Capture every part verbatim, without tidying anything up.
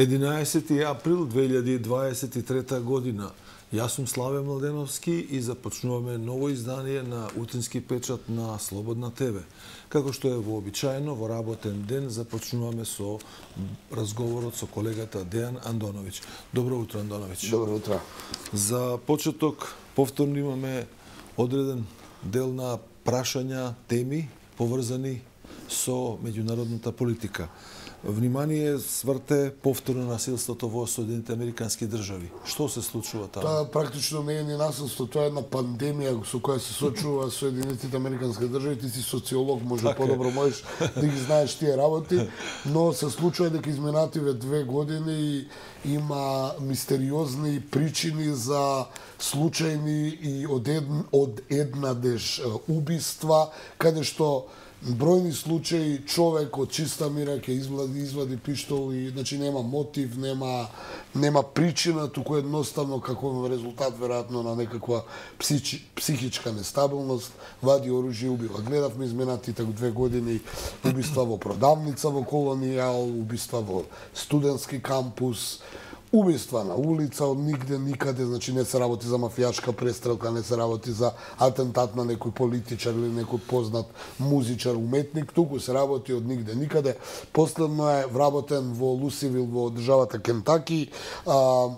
единаесети април две илјади дваесет и трета година. Јас сум Славе Младеновски и започнуваме ново издание на утрински печат на Слободна ТВ. Како што е вообичаено, во работен ден започнуваме со разговорот со колегата Дејан Андоновиќ. Добро утро, Андоновиќ. Добро утро. За почеток, повторно имаме одреден дел на прашања, теми, поврзани со меѓународната политика. Внимание сврте повторно насилството во Соединетите Американски држави. Што се случува таму? Тоа практично не е ни насилство, тоа е една пандемија со која се соочува Соединетите Американски држави. Ти си социолог, може так подобро можеш да ги знаеш тие работи, но се случува дека изминативе две години и има мистериозни причини за случајни и од, ед, од еднадеж убиства, каде што бројни случаи човек од чиста мира ќе извади извади пиштол и значи нема мотив, нема нема причина, туку едноставно како резултат веројатно на некаква психи, психичка нестабилност вади оружје и убива. Гледавме изминатите две години убиства во продавница во Колонијал, убиства во студентски кампус, убиства на улица од нигде никаде, значи не се работи за мафијашка престрелка, не се работи за атентат на некој политичар или некој познат музичар, уметник, туку се работи од нигде никаде. Последно е вработен во Лусивил во државата Кентаки, а,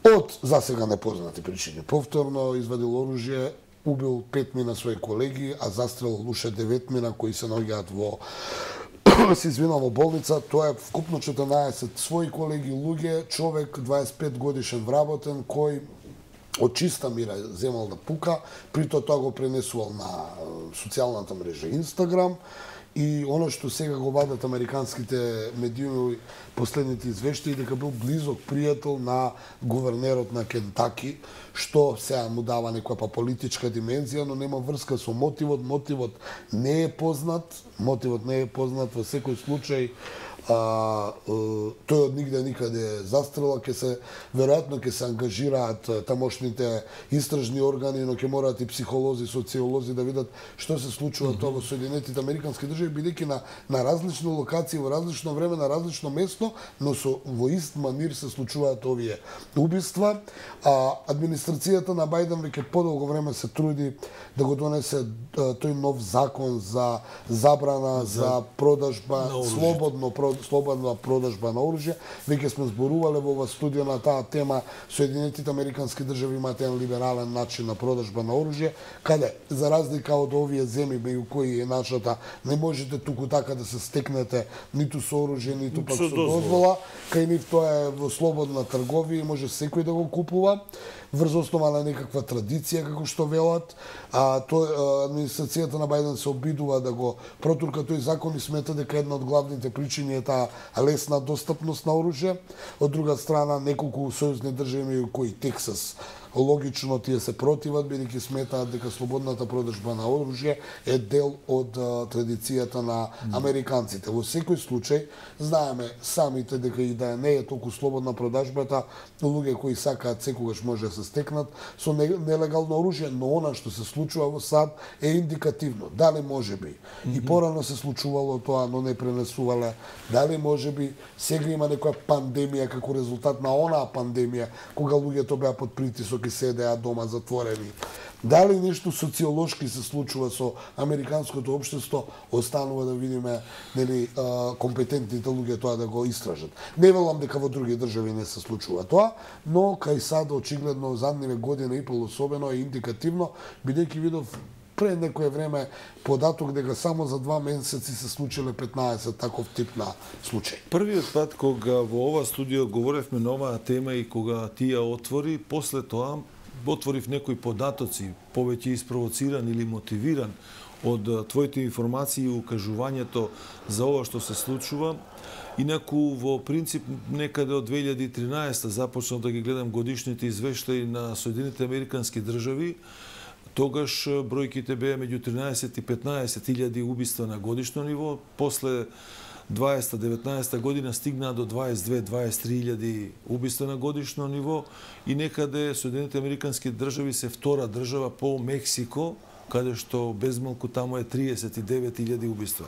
од засега непознати причини. Повторно извадил оружје, убил петмина своји колеги, а застрелил уште деветмина кои се наоѓаат во се извинал во болница. Тоа е вкупно четрнаесет своји колеги, луѓе, човек дваесет и пет годишен вработен, кој од чиста мира земал да пука, прито тоа го пренесувал на социјалната мрежа Инстаграм. И оно што сега го вадат американските медиуми, последните извештаи, дека бил близок пријател на гувернерот на Кентаки, што сега му дава некоја политичка димензија, но нема врска со мотивот. Мотивот не е познат, мотивот не е познат во секој случај. А, тој од нигде никаде застрела, ќе се веројатно ќе се ангажираат тамошните истражни органи, но ќе мораат и психолози, социолози да видат што се случува mm -hmm. тоа во Соединетите Американски држави, бидејќи на на различни локации, во различно време, на различно место, но со во ист манир се случуваат овие убиства. А администрацијата на Бајден веќе подолго време се труди да го донесе тој нов закон за забрана за, за продажба, слободно слободна продажба на оружје. Веќе сме зборувале во ова студија на таа тема. Соединетите Американски држави имаат еден либерален начин на продажба на оружје, каде за разлика од овие земји меѓу кои е нашата, не можете туку така да се стекнете ниту со оружје, ниту пак со дозвола. Кај нив тоа е во слободна трговија и може секој да го купува врз основа на некаква традиција, како што велат. А тој администрацијата на Бајден се обидува да го протурка тој закон и смета дека една од главните причини е таа лесна достапност на оружје. Од друга страна, неколку сојузни држави кои Тексас логично тие се противат, бидејќи сметаат дека слободната продажба на оружје е дел од а, традицијата на американците. Во секој случај, знаеме самите дека и да не е толку слободна продажбата, луѓе кои сакаат секогаш може да се стекнат со нелегално оружје, но она што се случува во САД е индикативно. Дали може би mm -hmm. и порано се случувало тоа, но не пренесувале, дали може би сега има некоја пандемија како резултат на онаа пандемија, кога луѓето беа под притисок и седеа дома затворени. Дали нешто социолошки се случува со американското општество, останува да видиме, нели, компетентните луѓе тоа да го истражат. Не велам дека во други држави не се случува тоа, но кај САД очигледно задниве година и пол особено е индикативно, бидејќи видов пред некое време податок дека само за два месеци се случиле петнаесет таков тип на случај. Првиот пат кога во ова студио говоревме на оваа тема и кога ти ја отвори, после тоа отворив некои податоци, повеќе испровоциран или мотивиран од твоите информации и укажувањето за ова што се случува. Инаку, во принцип, некаде од две илјади и тринаесета започнав да ги гледам годишните извештаи на Соединетите Американски држави. Тогаш бројките беа меѓу тринаесет и петнаесет илјади убиства на годишно ниво. После дваесета деветнаесета година стигнаа до дваесет две дваесет три илјади убиства на годишно ниво и некаде Соединетите Американски држави се втора држава по Мексико каде што безмалку таму е триесет и девет илјади убиства.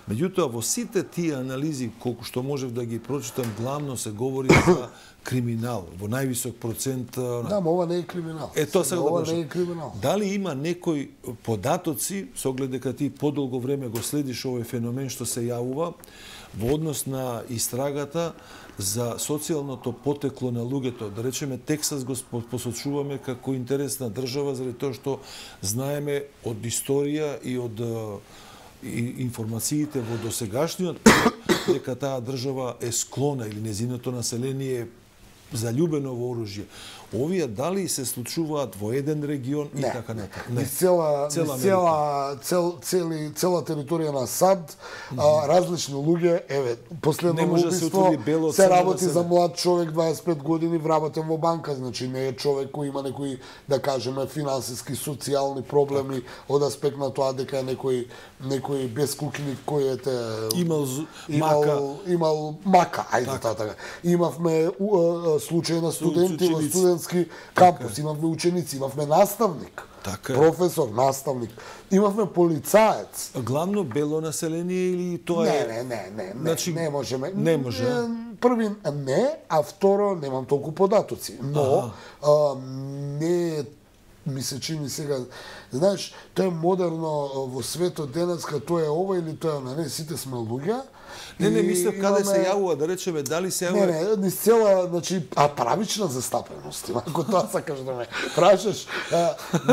Меѓутоа, во сите тие анализи, колку што можев да ги прочитам, главно се говори за криминал, во највисок процент. Да, но ова не е криминал. Е, тоа сега ова да не е криминал. Дали има некои податоци, со оглед дека ти подолго време го следиш овој феномен што се јавува, во однос на истрагата за социјалното потекло на луѓето? Да речеме, Тексас го посочуваме како интересна држава, заради тоа што знаеме од историја и од и информациите во досегашниот дека таа држава е склона или незиното население е заљубено во оружје. Овие дали се случуваат во еден регион и не, така натаму? Не. Цела, цела, цела, цел, цели, цела територија на САД, mm -hmm. а, различни луѓе, еве, последно убиство, да се, се работи за млад човек, дваесет и пет години, вработен во банка, значи не е човек кој има некои, да кажеме, финансиски, социјални проблеми так. Од аспект на тоа дека е некој некој безкукник кој ете имал, имал мака, имал мака, ајде така. така. Имавме у, а, случаи на студенти во студентски кампус, така. Имавме ученици, имавме наставник. Така. Професор, наставник. Имавме полицаец. Главно бело население или тоа не, е... Не, не, не, не, значи, не можеме. Не може. Први не, а второ немам толку податоци. Но а, не ми се чини сега, знаеш, тоа е модерно во светот денеска, тоа е ова или тоа е, не, сите сме луѓе. Не, не, мислев каде се јавува, да речеме, дали се јавува... Не, не, низ цела, значи, а правична застапеност, ако тоа сакаш да ме прашаш,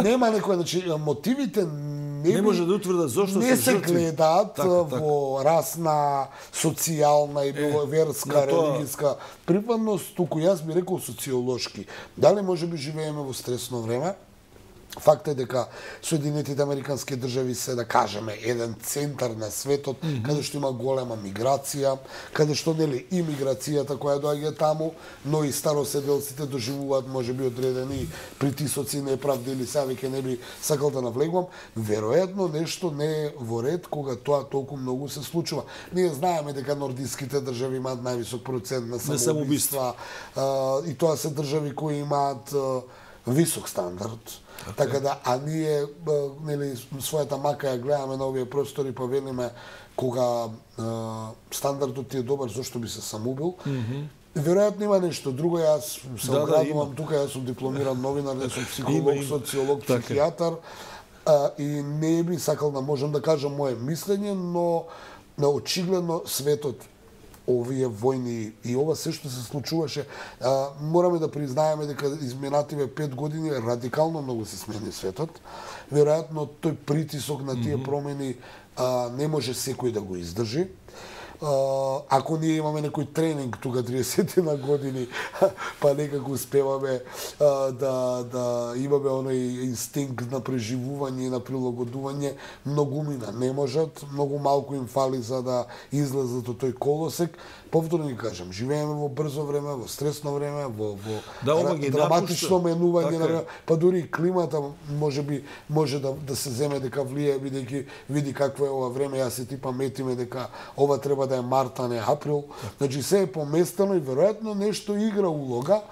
нема некој, значи, мотивите не, не може да утврдат зошто не се се жртви. гледаат така, во така. Расна, социјална и е, верска, религиска припадност, туку јас би рекол социолошки. Дали може би живееме во стресно време? Факт е дека Соединетите Американски држави се, да кажеме, еден центар на светот, mm -hmm. каде што има голема миграција, каде што, нели, и миграцијата која доаѓа таму, но и староседелците доживуваат, можеби, одредени притисоци, неправди или сега веќе не би сакал да навлегувам. Веројатно нешто не е во ред кога тоа толку многу се случува. Ние знаеме дека нордиските држави имаат највисок процент на самоубиства, и тоа се држави кои имаат висок стандард. Okay. Така да, а ние, нели, својата мака ја гледаме на овие простори, па велиме, кога а, стандардот ти е добар, зашто би се самоубил. Mm -hmm. Веројатно има нешто друго, јас се да, оградувам да, тука, јас сум дипломиран новинар, не сум психолог, социолог, психијатар, а, и не би сакал да можам да кажам моје мислење, но на очигледно светот, овие војни и ова се што се случуваше, а, мораме да признаеме дека изминативе пет години радикално многу се смени светот. Веројатно тој притисок на тие промени а, не може секој да го издржи. Uh, ако ние имаме некој тренинг тука триесет на години, па некако успеваме uh, да, да имаме оној инстинкт на преживување и на прилагодување, многумина не можат, многу малку им фали за да излезат од тој колосек. Повторно ги кажам, живееме во брзо време, во стресно време, во, во да, драматично менување така на време, па дури и климата може би може да, да се земе дека влие, бидејќи види какво е ова време, јас се ти паметиме дека ова треба да е март, а не април. Значи се е поместено и веројатно нешто игра улога.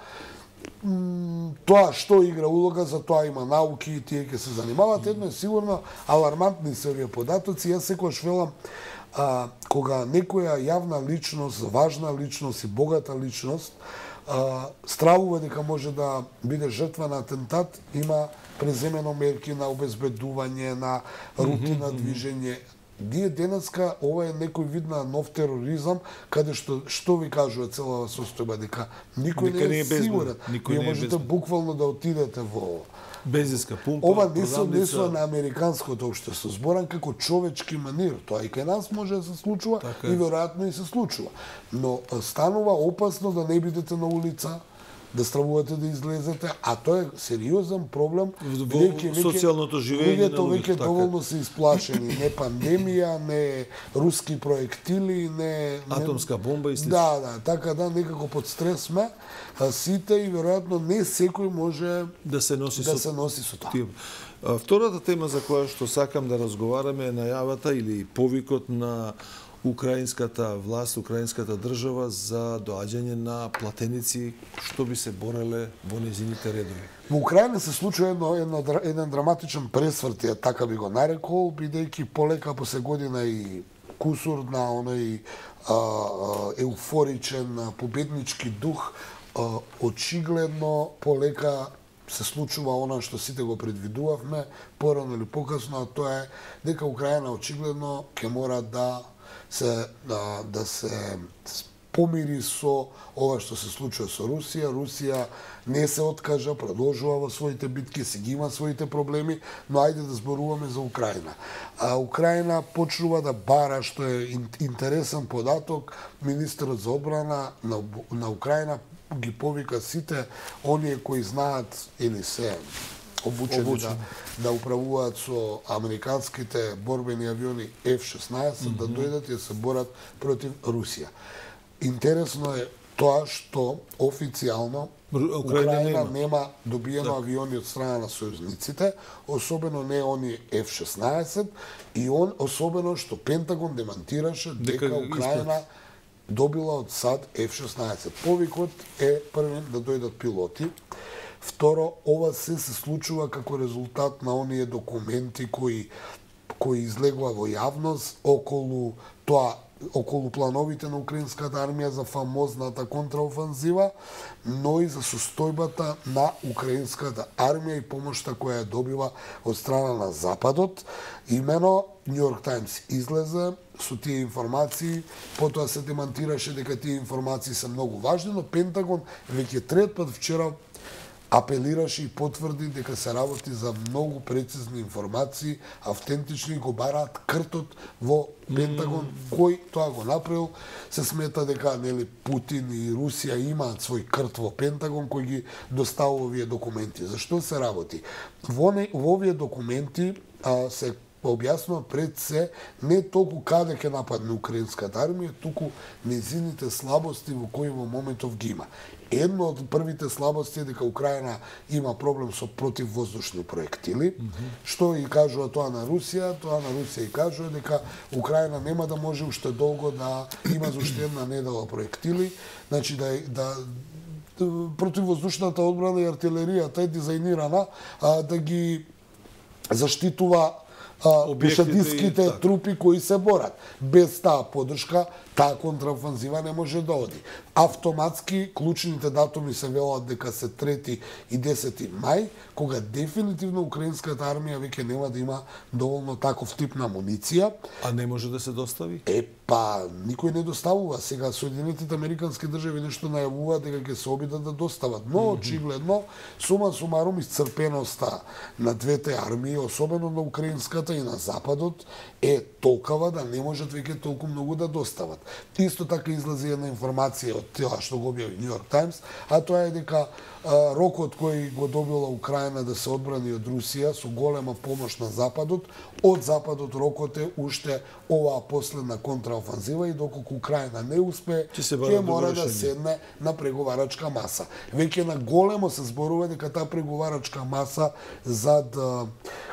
Тоа што игра улога, за тоа има науки и тие ќе се занимаваат. Едно е сигурно, алармантни се овие податоци. Јас секогаш велам, а, кога некоја јавна личност, важна личност и богата личност а, стравува дека може да биде жртва на атентат, има преземено мерки на обезбедување, на рутина движење. Ние денеска ова е некој вид на нов тероризам, каде што што ви кажува целава состојба, дека никој дека не е, е сигурен. Вие можете буквално да отидете во бензинска пумпа. Ова не се однесува на американското општество. Зборам како човечки манир. Тоа и кај нас може да се случува така и веројатно и се случува. Но станува опасно да не бидете на улица, да стравувате да излезете, а тоа е сериозен проблем во социјалното живење на луѓето. Веќе доволно се исплашени, не пандемија, не руски проектили, не атомска бомба и слично. Да, да, така да некако под стрес сме сите и веројатно не секој може да се носи да со се носи со тоа. Втората тема за која што сакам да разговараме е најавата или повикот на украинската власт, украинската држава за доаѓање на платеници што би се бореле во незините редови. Во Украина се случува едно, едно, еден драматичен пресврт, така би го нарекол, бидејќи полека после година и кусур на оној а, а, еуфоричен победнички дух, а, очигледно полека се случува она што сите го предвидувавме, порано или покасно, а тоа е дека Украина очигледно ќе мора да се да, да се помири со ова што се случува со Русија. Русија не се откажа, продолжува во своите битки, си ги има своите проблеми, но ајде да зборуваме за Украина. А Украина почнува да бара, што е интересен податок, министерот за одбрана на, на Украина ги повика сите оние кои знаат или се обучени, обучени. Да, да управуваат со американските борбени авиони Ф шеснаесет, mm-hmm. да дојдат и да се борат против Русија. Интересно е тоа што официјално Украина, Украина нема. нема добиено да. авиони од страна на сојузниците, особено не они Ф шеснаесет, и он особено што Пентагон демантираше дека, дека Украина испред. добила од САД Ф шеснаесет. Повикот е првен да дојдат пилоти. Второ, ова се се случува како резултат на оние документи кои кои излегува во јавност околу тоа, околу плановите на украинската армија за фамозната контраофанзива, но и за состојбата на украинската армија и помошта која ја добива од страна на Западот. Имено Нью Йорк Таймс излезе со тие информации, потоа се демантираше дека тие информации се многу важни, но Пентагон веќе трет пат вчера апелираше и потврди дека се работи за многу прецизни информации, автентични, го бараат кртот во Пентагон, mm. кој тоа го направил. Се смета дека нели Путин и Русија имаат свој крт во Пентагон кој ги доставува овие документи. Зашто се работи? Во, не, во овие документи а, се објаснува пред се не толку каде ќе нападне украинската армија, туку незините слабости во кои во моментов ги има. Едно од првите слабости е дека Украина има проблем со противвоздушни проектили, mm -hmm. што и кажува тоа на Русија, тоа на Русија и кажува дека Украина нема да може уште долго да има за уште една недела проектили, значи да да противвоздушната одбрана и артилеријата е дизајнирана а, да ги заштитува пешадиските трупи кои се борат. Без таа поддршка, таа контраофанзива не може да оди. Автоматски, клучните датуми се велат дека се трети и десети мај, кога дефинитивно украинската армија веќе нема да има доволно таков тип на амуниција. А не може да се достави? Е, па, никој не доставува. Сега Соединетите Американски држави нешто најавуваат дека ќе се обидат да достават. Но, mm -hmm. очигледно, сума сумарум исцрпеноста на двете армии, особено на украинската и на Западот, е толкова да не можат веќе толку многу да достават. Исто така излезе една информација од тоа што го објави Нью Йорк Таймс, а тоа е дека а, рокот кој го добила Украина да се одбрани од Русија со голема помош на Западот, од Западот рокот е уште оваа последна контраофанзива и доколку Украина не успее, ќе мора да седне на преговарачка маса. Веќе на големо се зборува дека таа преговарачка маса зад а,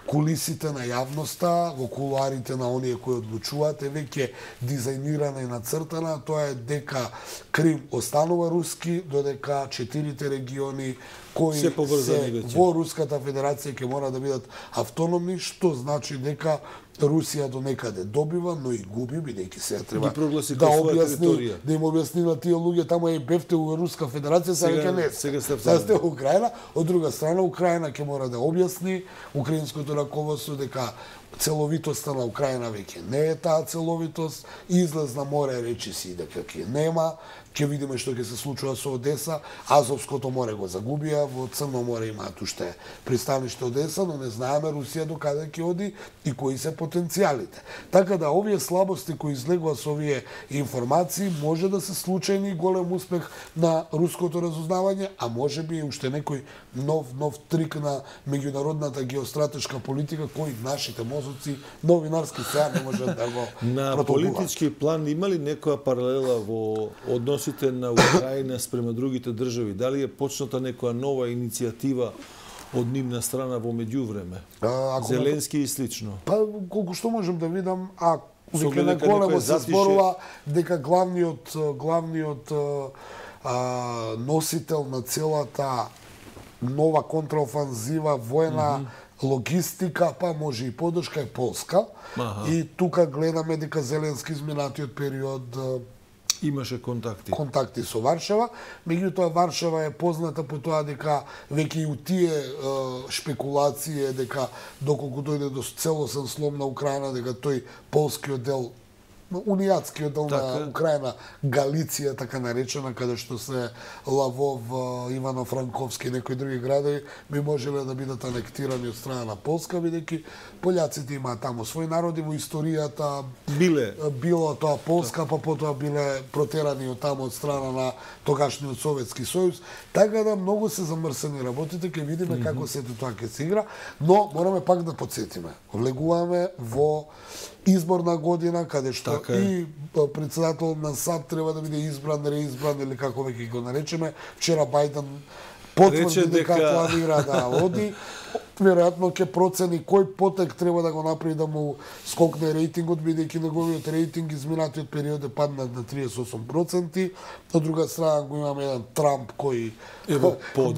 кулисите на јавноста, во кулуарите на оние кои одлучуваат, е веќе дизајнирана и нацртана. Тоа е дека Крим останува руски, додека четирите региони кои се, се во Руската Федерација ќе мора да бидат автономни, што значи дека Русија до некаде добива, но и губи, бидејќи се треба да објасни, да им објасни на тие луѓе, таму е бевте у Руска Федерација, сега веќе не сега сте во Украина. Од друга страна, Украина ќе мора да објасни украинското раководство дека целовитоста на Украина веќе не е таа целовитост, излез на море речиси дека ќе нема, ќе видиме што ќе се случува со Одеса, Азовското море го загубија, во Црно море имаат уште пристаниште Одеса, но не знаеме Русија до каде ќе оди и кои се потенцијалите. Така да овие слабости кои излегува со овие информации може да се случајни голем успех на руското разузнавање, а може би и уште некој нов нов трик на меѓународната геостратешка политика кој нашите мозоци новинарски сега не можат да го на протолкуваат. Политички план има ли некоја паралела во односите на Украина спрема другите држави? Дали е почната некоја нова иницијатива од нивна страна во меѓувреме? Зеленски и слично. Па, колку што можам да видам, а веќе на големо се зборува дека главниот главниот а, носител на целата нова контраофанзива, војна, mm -hmm. логистика, па може и поддршка е Полска. Аха. И тука гледаме дека Зеленски изминатиот период имаше контакти. Контакти со Варшава, меѓутоа Варшава е позната по тоа дека веќе и у тие е, шпекулации дека доколку дојде до целосен слом на Украина, дека тој полскиот дел, унијатскиот дел така на Украина, Галиција така наречена, каде што се Лавов, Ивано-Франковски и некои други градови би можеле да бидат анектирани од страна на Полска, бидејќи пољаците имаат таму своји народи, во историјата биле било тоа Полска, па потоа биле протерани од таму од страна на тогашниот Советски сојуз. Така да многу се замрсени работите, ќе видиме mm -hmm. како сето тоа ќе се игра, но мораме пак да подсетиме. Влегуваме во изборна година, каде што така и председател на САД треба да биде избран, реизбран или како веќе го наречеме. Вчера Бајден потврди дека планира да оди. Веројатно ќе процени кој потек треба да го направи да му скокне рейтингот, бидејќи неговиот рейтинг изминатиот период е паднат на триесет и осум проценти. Од друга страна го имаме еден Трамп кој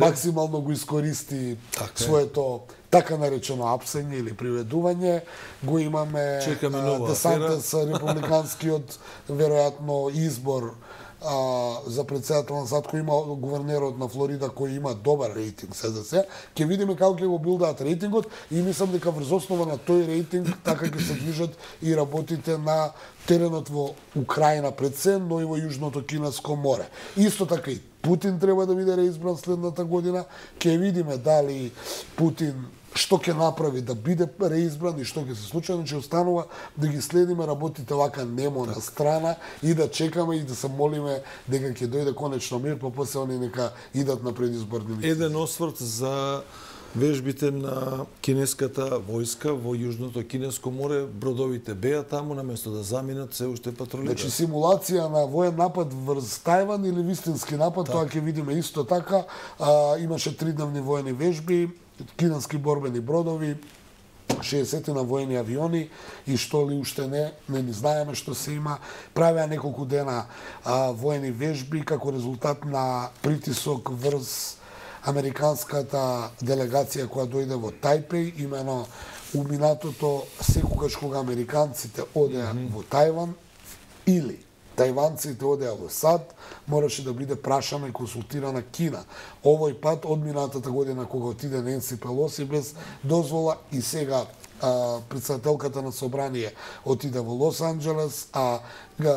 максимално го искористи така своето така наречено апсење или приведување. Го имаме Де Сантис, републиканскиот веројатно избор а, за председател на САД, кој има гувернерот на Флорида кој има добар рейтинг се за се. Ќе видиме како ќе го билдаат рейтингот и мислам дека врз основа на тој рейтинг така ќе се движат и работите на теренот во Украина пред се, но и во Јужното Кинеско море. Исто така и Путин треба да биде реизбран следната година. Ќе видиме дали Путин што ќе направи да биде реизбран и што ќе се случи, значи останува да ги следиме работите вака немо на страна и да чекаме и да се молиме дека ќе дојде конечно мир, па после они нека идат на предизборни листи. Еден осврт за вежбите на кинеската војска во Јужното Кинеско море, бродовите беа таму наместо да заминат се уште патрулираат. Значи симулација на воен напад врз Тајван или вистински напад, так. Тоа ќе видиме исто така. А, имаше тридневни воени вежби, кинески борбени бродови, шеесет на воени авиони и што ли уште не, не ни знаеме што се има. Правеа неколку дена а, воени вежби како резултат на притисок врз американската делегација која дојде во Тајпеј, имено у минатото секогаш кога американците одеа mm -hmm. во Тајван или тајванците одеа во САД, мораше да биде прашана и консултирана Кина. Овој пат од минатата година кога отиде Ненси Пелоси без дозвола и сега а, председателката на собрание отиде во Лос Анџелес, а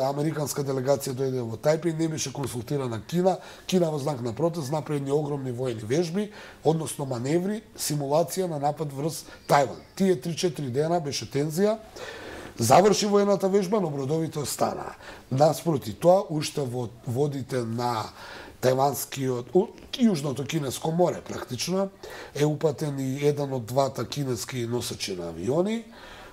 американска делегација дојде во Тајпеј, не беше консултирана Кина. Кина во знак на протест направи едни огромни воени вежби, односно маневри, симулација на напад врз Тајван. Тие три-четири дена беше тензија. Заврши воената вежба, но бродовите останаа. Наспроти тоа, уште во водите на тајванскиот, Јужното Кинеско море практично, е упатен и еден од двата кинески носачи на авиони,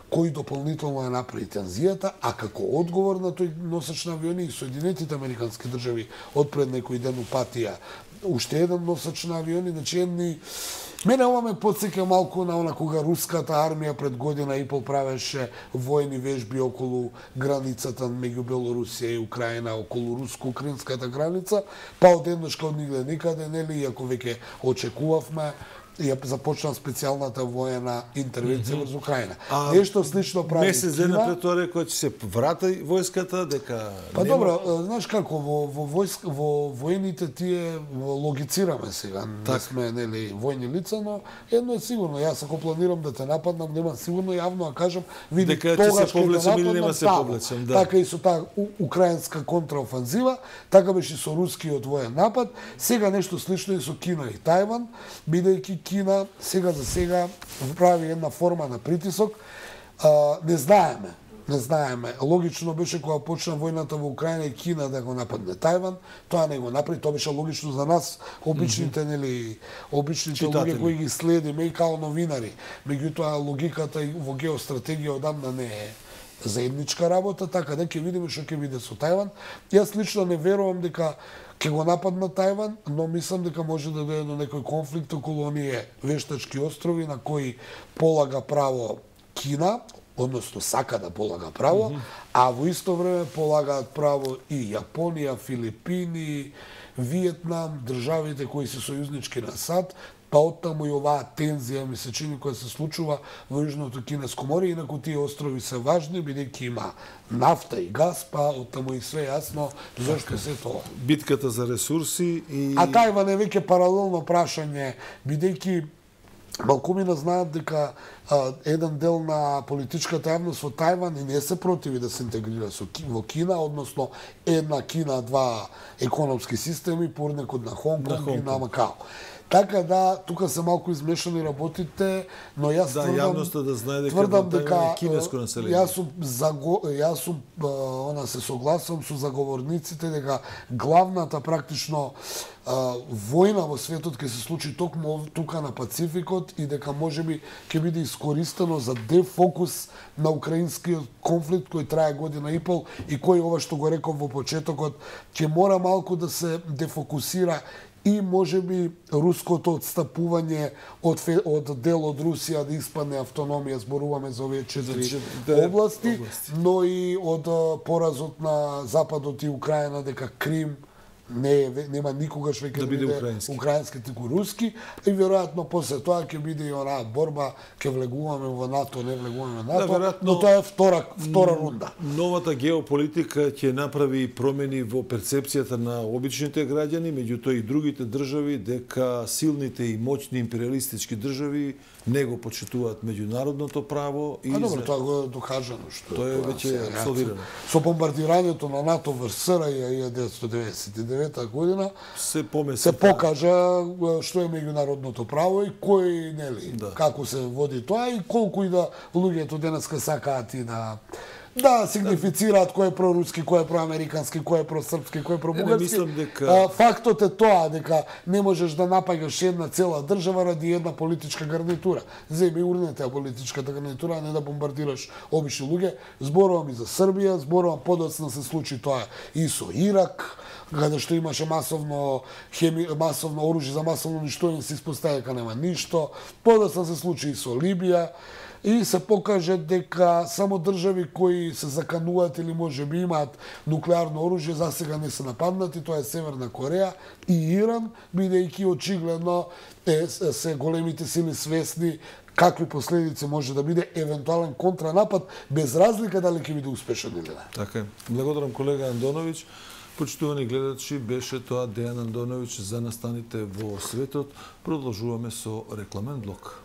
кој дополнително е направи тензијата, а како одговор на тој носач на авиони и Соединетите американски држави од пред некој ден упатија уште еден носач на авиони, значи едни. Мене ова ме потсеќа малку на она кога руската армија пред година и пол правеше воени вежби околу границата меѓу Белорусија и Украина, околу руско-украинската граница, па одеднаш као нигде никаде, нели, иако веќе очекувавме, ја започна специјалната воена интервенција врз Украина. А, Нешто слично прави месец дена пред тоа рекоа ќе се врати војската, дека Па нема... добро, знаеш како во во војск во воените тие логицираме сега, так. Не сме нели војни лица, но едно е сигурно, јас ако планирам да те нападнам, нема сигурно јавно да кажам, види дека тогаш се повлечам или нема се повлечам, да. Така и со таа украинска контраофанзива, така беше и со рускиот воен напад, сега нешто слично и со Кина и Тајван, бидејќи Кина сега за сега прави една форма на притисок. А, не знаеме, не знаеме. Логично беше кога почна војната во Украина и Кина да го нападне Тајван, тоа не го направи, тоа беше логично за нас, обичните, mm -hmm. нели, обичните читатели, луѓе кои ги следиме и као новинари. Меѓутоа логиката и во геостратегија одамна не е заедничка работа, така да ќе видиме што ќе биде со Тајван. Јас лично не верувам дека ќе го нападна Тајван, но мислам дека може да дојде до некој конфликт околу оние вештачки острови на кои полага право Кина, односно сака да полага право, mm -hmm. а во исто време полагаат право и Јапонија, Филипини, Виетнам, државите кои се сојузнички на САД, па оттаму и оваа тензија ми се чини која се случува во Јужното Кинеско море, инаку тие острови се важни, бидејќи има нафта и газ, па оттаму и све јасно зашто се тоа. Битката за ресурси и... А Тајван е веќе паралелно прашање, бидејќи малкумина знаат дека а, еден дел на политичката јавност во Тајван и не се противи да се интегрира со, во Кина, односно една Кина, два економски системи, порнекот на Хонг Конг и на Макао. Така да, тука се малку измешани работите, но јас да, тврдам, јавноста да знае дека тврдам дека е кинеско население. Јас сум заго, јас сум она се согласувам со заговорниците дека главната практично војна во светот ќе се случи токму тука на Пацификот и дека можеби ќе биде искористено за дефокус на украинскиот конфликт кој трае година и пол и кој ова што го реков во почетокот ќе мора малку да се дефокусира и можеби руското отстапување од, од дел од Русија да испадне автономија, зборуваме за овие четири области, области, но и од поразот на Западот и Украина дека Крим не нема никогаш веќе да биде украински, украински туку руски и веројатно после тоа ќе биде и онаа борба, ќе влегуваме во НАТО, не влегуваме во НАТО, да, вероятно, но тоа е втора втора рунда. Новата геополитика ќе направи промени во перцепцијата на обичните граѓани, меѓутоа и другите држави дека силните и моќни империалистички држави не го почитуваат меѓународното право и а добро, тоа го е докажано што тоа е веќе абсолвирано. Со бомбардирањето на НАТО врз СРЈ илјада деветстотини деветдесет и девета година се помеси се покажа што е меѓународното право и кој нели да. Како се води тоа и колку и да луѓето денеска сакаат и да да сигнифицираат кој е проруски, кој е проамерикански, кој е просрпски, кој е пробугарски. Дека... Фактот е тоа дека не можеш да напаѓаш една цела држава ради една политичка гарнитура. Земи урнете политичката гарнитура, а не да бомбардираш обични луѓе. Зборувам и за Србија, зборувам подоцна се случи тоа и со Ирак, каде што имаше масовно хеми, масовно оружје за масовно уништување, се испостави дека нема ништо. Подоцна се случи и со Либија. И се покаже дека само држави кои се закануваат или може би имаат нуклеарно оружје за сега не се нападнати, тоа е Северна Кореја и Иран, бидејќи очигледно е, се големите сили свесни какви последици може да биде евентуален контранапад, без разлика дали ќе биде успешен или не. Така е. Благодарам колега Андоновиќ. Почитувани гледачи, беше тоа Дејан Андоновиќ за настаните во светот. Продолжуваме со рекламен блок.